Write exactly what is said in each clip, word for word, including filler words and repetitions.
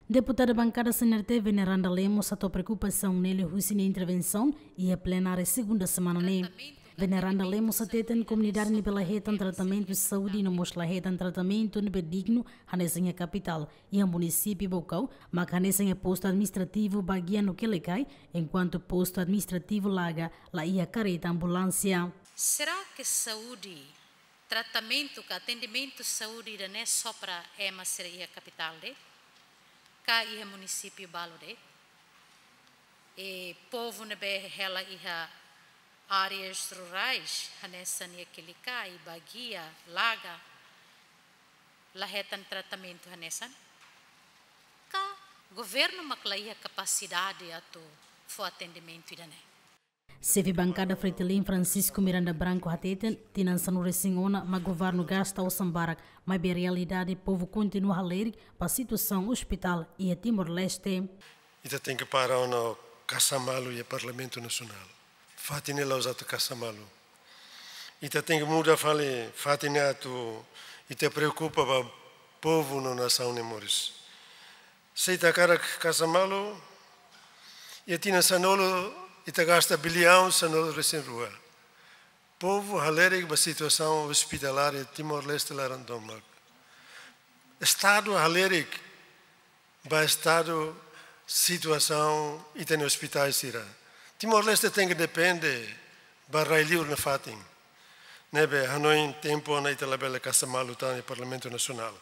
Deputada bankada C N R T, Veneranda Lemos, hato'o preokupasaun ne'e liu husi nia intervensaun iha plenária segunda semana ne'e. Veneranda Lemos hateten komunidade ne'ebé la hetan tratamentu saúde no mós la hetan tratamentu ne'ebé dignu hanesan iha kapitál, iha munisípiu Baucau mak hanesan iha postu administrativu Baguia no Quelicai, enkuantu postu administrativu Laga la iha kareta ambulánsia. Será que saúde, tratamentu ka atendimentu saúde ida-ne'e só para ema sira iha kapitál de'it? Ka iha munisípiu balu de'it? E povu ne'ebé hela iha áreas rurais, hanesan iha Quelicai, Baguia, Laga, la hetan tratamentu hanesan? Ka governu mak la iha kapasidade atu fó atendimentu ida-ne'e? Xefe bankada Fretilin, Francisco Miranda Branco, hateten tinan sanulu-resin-ona mak governu gasta osan barak, maibé realidade povu kontinua halerik ba situasaun ospitál iha Timor-Leste. Ita tenke para ona kasa malu iha Parlamentu Nasionál. Fatin ne'e la'ós atu kasa malu. Ita tenke muda fali fatin ne'e atu ita preokupa ba povu no nasaun nia moris. Se ita hakarak kasa malu, iha tinan sanulu ita gasta biliaun sanulu-resin-rua. Povu halerik ba situasaun ospitalár iha Timor-Leste laran tomak. Estadu halerik ba estadu situasaun ita-nia ospitais sira. Timor-Leste tenke depende ba rai-li'ur nia fatin. Ne'ebé hanoin tempu ona ita labele kasa malu tan iha Parlamentu Nasionál.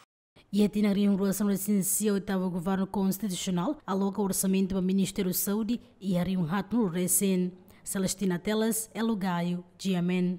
Iha tinan rihun rua sanulu-resin-sia, oitavu governu konstitusionál aloka orsamentu ba Ministériu Saúde iha rihun haatnulu-resin. Celestina Teles, Elo Gaio, G M N.